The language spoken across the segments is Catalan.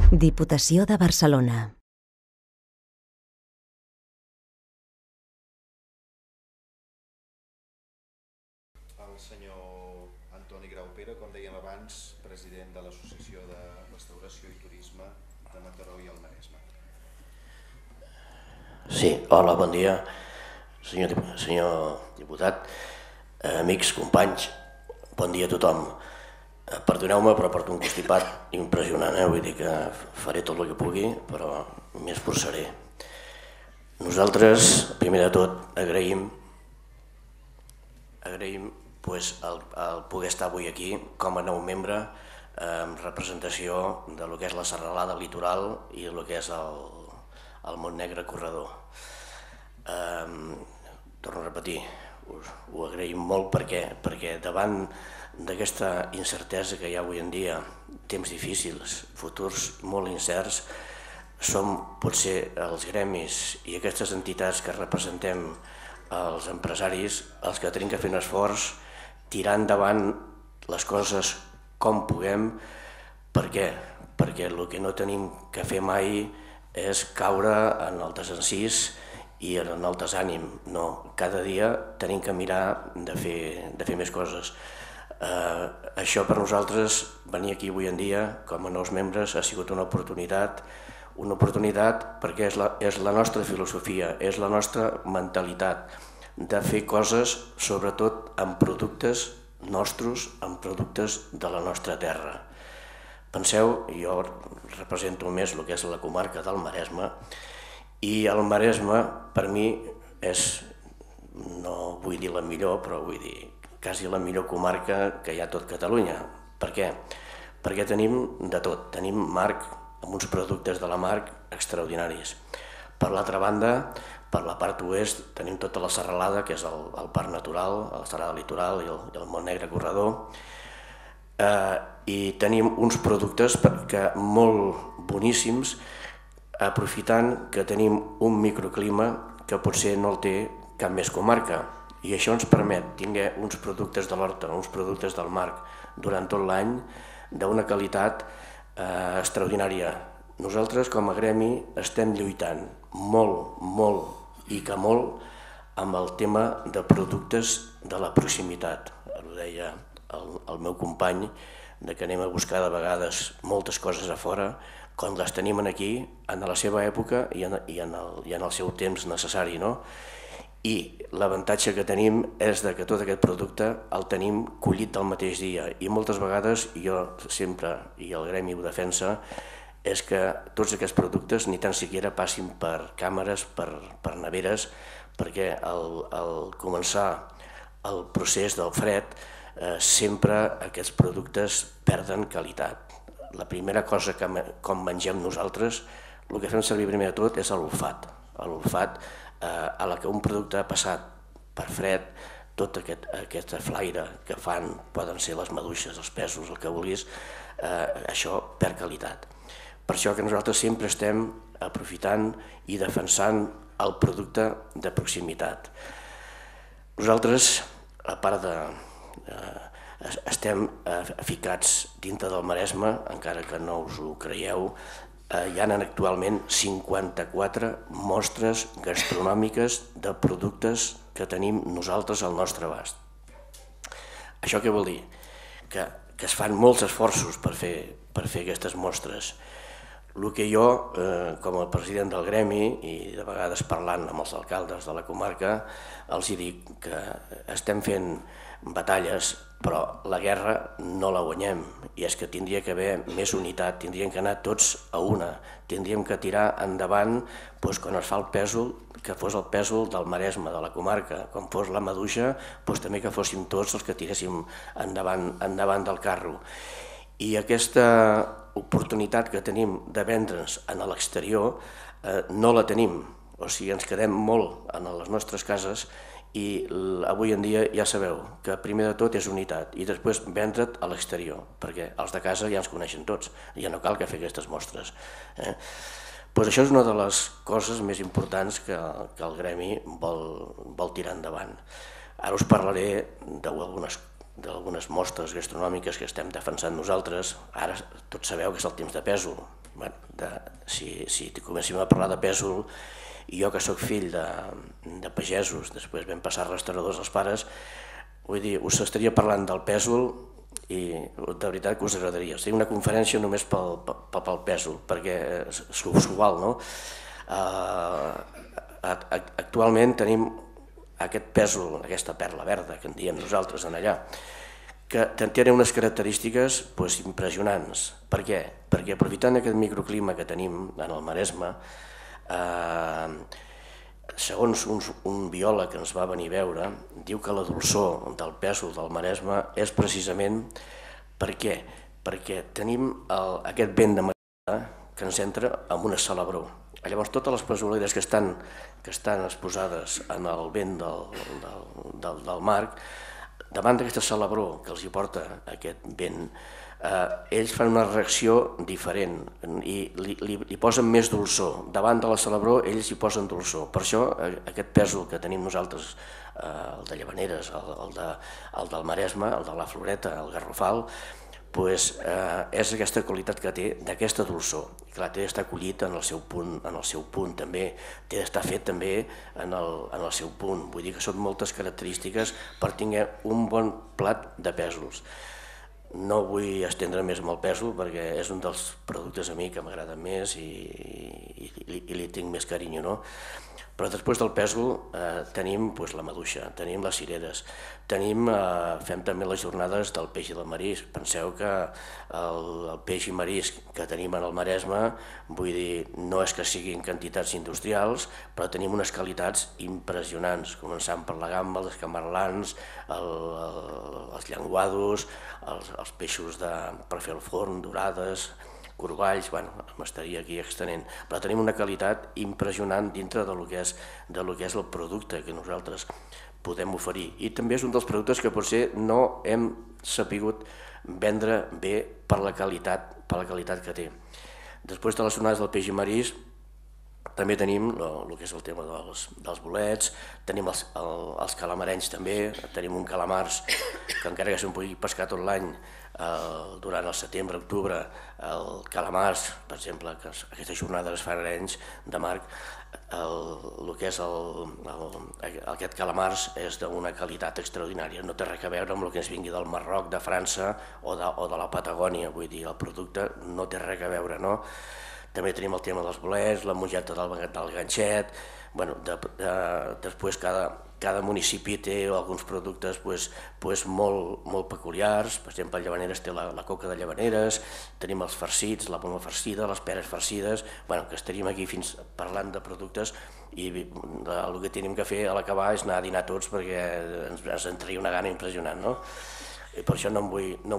Diputació de Barcelona. El senyor Antoni Graupera, com dèiem abans, president de l'Associació de Restauració i Turisme de Mataró i el Maresme. Sí, hola, bon dia, senyor diputat, amics, companys, bon dia a tothom. Perdoneu-me, però porto un constipat impressionant, vull dir que faré tot el que pugui, però m'hi esforçaré. Nosaltres, primer de tot, agraïm el poder estar avui aquí com a nou membre en representació de lo que és la serralada litoral i el que és el Montnegre Corredor. Torno a repetir, ho agraïm molt perquè davant d'aquesta incertesa que hi ha avui en dia, temps difícils, futurs molt incerts, som potser els gremis i aquestes entitats que representem els empresaris els que tenim que fer un esforç, tirar endavant les coses com puguem. Per què? Perquè el que no tenim que fer mai és caure en el desencís i en el desànim. No, cada dia tenim que mirar de fer més coses. Això per nosaltres, venir aquí avui en dia com a nous membres, ha sigut una oportunitat perquè és la nostra filosofia, és la nostra mentalitat de fer coses sobretot amb productes nostres, amb productes de la nostra terra. Penseu, jo represento més el que és la comarca del Maresme, i el Maresme per mi és, no vull dir la millor, però vull dir quasi la millor comarca que hi ha a tot Catalunya. Per què? Perquè tenim de tot, tenim mar, amb uns productes de la mar extraordinaris. Per l'altra banda, per la part oest, tenim tota la serralada, que és el parc natural, la serralada litoral i el Montnegre Corredor, i tenim uns productes molt boníssims, aprofitant que tenim un microclima que potser no el té cap més comarca, i això ens permet tenir uns productes de l'horta, uns productes del mar durant tot l'any d'una qualitat extraordinària. Nosaltres com a gremi estem lluitant molt i que molt amb el tema de productes de la proximitat. Ho deia el meu company, que anem a buscar de vegades moltes coses a fora, quan les tenim aquí, en la seva època i en el seu temps necessari. I l'avantatge que tenim és que tot aquest producte el tenim collit del mateix dia, i moltes vegades, jo sempre, i el gremi ho defensa, és que tots aquests productes ni tan siquiera passin per càmeres, per neveres, perquè al començar el procés del fred sempre aquests productes perden qualitat. La primera cosa que com mengem nosaltres, el que fem servir primer de tot és l'olfat. L'olfat a la que un producte ha passat per fred, tot aquest flaire que fan, poden ser les maduixes, els pèsols, el que vulguis, això perd qualitat. Per això que nosaltres sempre estem aprofitant i defensant el producte de proximitat. Nosaltres, a part estem ficats dintre del Maresme, encara que no us ho creieu, hi ha actualment 54 mostres gastronòmiques de productes que tenim nosaltres al nostre abast. Això què vol dir? Que es fan molts esforços per fer aquestes mostres. El que jo, com a president del gremi, i de vegades parlant amb els alcaldes de la comarca, els dic que estem fent batalles, però la guerra no la guanyem, i és que tindria que haver més unitat, tindríem que anar tots a una, tindríem que tirar endavant quan es fa el pèsol, que fos el pèsol del Maresme, de la comarca, com fos la maduixa, també que fóssim tots els que tiréssim endavant del carro. I aquesta oportunitat que tenim de vendre'ns a l'exterior no la tenim, o sigui, ens quedem molt a les nostres cases, i avui en dia ja sabeu que primer de tot és unitat i després vendre't a l'exterior, perquè els de casa ja ens coneixen tots, ja no cal que fer aquestes mostres. Això és una de les coses més importants que el gremi vol tirar endavant. Ara us parlaré d'algunes mostres gastronòmiques que estem defensant nosaltres. Ara tots sabeu que és el temps de pèsol, si comencem a parlar de pèsol, i jo que sóc fill de pagesos, després vam passar restauradors als pares, vull dir, us estaria parlant del pèsol i de veritat que us agradaria. Seria una conferència només pel pèsol, perquè s'ho val, no? Actualment tenim aquest pèsol, aquesta perla verda que en diem nosaltres en allà, que té unes característiques impressionants. Per què? Perquè aprofitant aquest microclima que tenim en el Maresme, segons un biòleg que ens va venir a veure, diu que la dolçor del pèsol del Maresme és precisament per què? Perquè tenim aquest vent de matinada que ens entra amb una salabror. Llavors totes les pesoleres que estan exposades en el vent del mar, davant d'aquesta salabror que els hi porta aquest vent, ells fan una reacció diferent i li posen més dolçor. Davant de la salabror ells hi posen dolçor. Per això aquest pèsol que tenim nosaltres, el de Llavaneres, el del Maresme, el de la Floreta, el Garrofal, és aquesta qualitat que té d'aquesta dolçor. Clar, té d'estar collit en el seu punt també, té d'estar fet també en el seu punt. Vull dir que són moltes característiques per tenir un bon plat de pèsols. No vull estendre més amb el pèsol perquè és un dels productes a mi que m'agrada més i li tinc més carinyo, no? Però després del pèsol tenim la maduixa, tenim les cireres, fem també les jornades del peix i del marisc. Penseu que el peix i marisc que tenim en el Maresme, vull dir, no és que siguin quantitats industrials, però tenim unes qualitats impressionants, començant per la gamba, els camarlans, els llenguados, els peixos per fer el forn, dorades, corballs, m'estaria aquí extenent, però tenim una qualitat impressionant dintre del que és el producte que nosaltres podem oferir. I també és un dels productes que potser no hem sapigut vendre bé per la qualitat que té. Després de les jornades del peix i marisc, també tenim el que és el tema dels bolets, tenim els calamarenys també, tenim un calamars que encara que se'n pugui pescar tot l'any, durant el setembre, octubre, el calamars, per exemple, que aquestes jornades es fan arenys de mar, el que és aquest calamars és d'una qualitat extraordinària, no té res a veure amb el que ens vingui del Marroc, de França o de la Patagònia, vull dir, el producte no té res a veure, no? També tenim el tema dels bolets, la mongeta del ganxet, després cada municipi té alguns productes molt peculiars. Per exemple, a Llavaneres té la coca de Llavaneres, tenim els farcits, la poma farcida, les peres farcides, que estaríem aquí fins parlant de productes i el que tenim que fer a l'acabar és anar a dinar tots perquè ens entraria una gana impressionant, no? I per això no em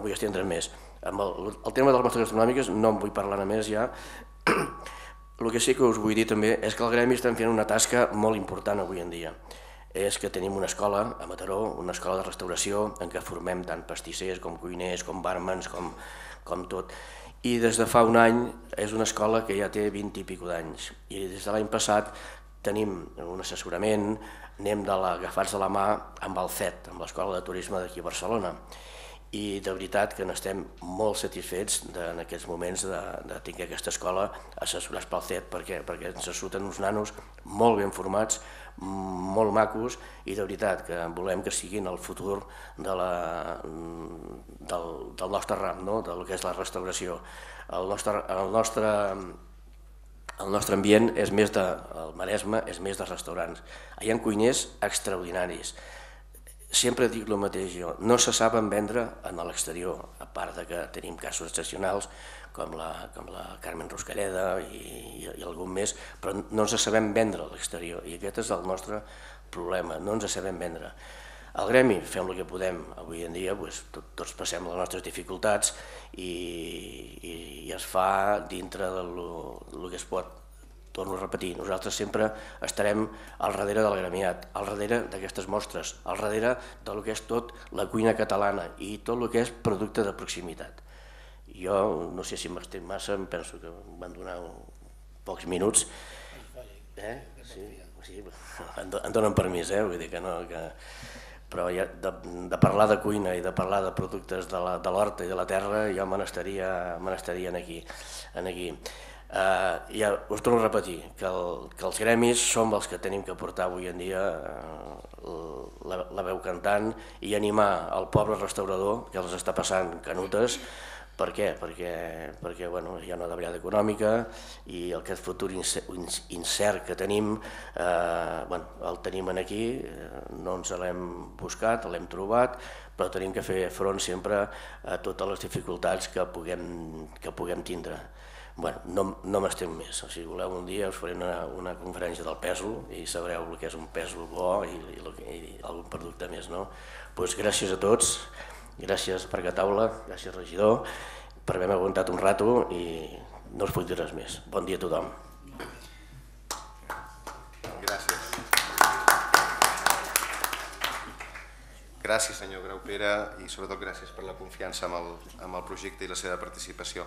vull estendre més. Amb el tema de les mostres gastronòmiques no em vull parlar més ja. El que sí que us vull dir també és que el gremi estem fent una tasca molt important avui en dia. És que tenim una escola a Mataró, una escola de restauració en què formem tant pastissers com cuiners, com bàrmens, com tot. I des de fa un any és una escola que ja té 20 i escaig d'anys. I des de l'any passat tenim un assessorament, anem agafats de la mà amb el CET, amb l'Escola de Turisme d'aquí a Barcelona. I de veritat que n'estem molt satisfets en aquests moments de tenir aquesta escola assessorats pel CET perquè ens surten uns nanos molt ben formats, molt macos i de veritat que volem que siguin el futur del nostre ram, del que és la restauració. El nostre ambient és més el Maresme és més de restaurants. Hi ha cuiners extraordinaris. Sempre dic el mateix jo, no se saben vendre en l'exterior, a part que tenim casos excepcionals com la Carmen Ruscalleda i algun més, però no ens sabem vendre a l'exterior i aquest és el nostre problema, no ens sabem vendre. Al gremi fem el que podem, avui en dia tots passem les nostres dificultats i es fa dintre del que es pot. Torno a repetir, nosaltres sempre estarem al darrere del gremiat, al darrere d'aquestes mostres, al darrere del que és tot la cuina catalana i tot el que és producte de proximitat. Jo no sé si m'estic massa, em penso que em van donar pocs minuts. Sí, em donen permís, vull dir que no... però de parlar de cuina i de parlar de productes de l'horta i de la terra jo me n'estaria aquí. Ja us torno a repetir que els gremis som els que tenim que portar avui en dia la veu cantant i animar el poble restaurador que els està passant canutes. Per què? Perquè hi ha una davallada econòmica i aquest futur incert que tenim el tenim aquí, no ens l'hem buscat, l'hem trobat, però tenim que fer front sempre a totes les dificultats que puguem tindre. No m'estem més, si voleu un dia us faré una conferència del pèsol i sabreu el que és un pèsol bo i algun producte més. Gràcies a tots. Gràcies Parc Taula, gràcies regidor, per haver-me aguantat un rato i no us puc dir res més. Bon dia a tothom. Gràcies. Gràcies senyor Graupera i sobretot gràcies per la confiança amb el projecte i la seva participació.